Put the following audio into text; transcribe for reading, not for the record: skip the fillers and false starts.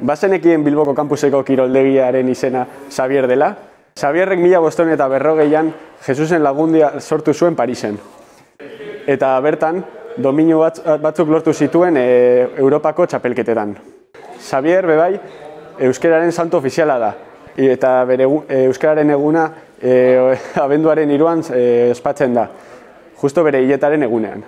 Bazenekien Bilboko kampuseko kiroldegiaren izena Xabier dela. Xabierrek 1540an Jesusen Lagundia sortu zuen Parisen. Eta bertan, dominu batzuk lortu zituen Europako txapelketetan. Xabier, bebai, euskararen santo ofiziala da. Eta bere euskararen eguna abenduaren 3an ospatzen da, justo bere hiletaren egunean.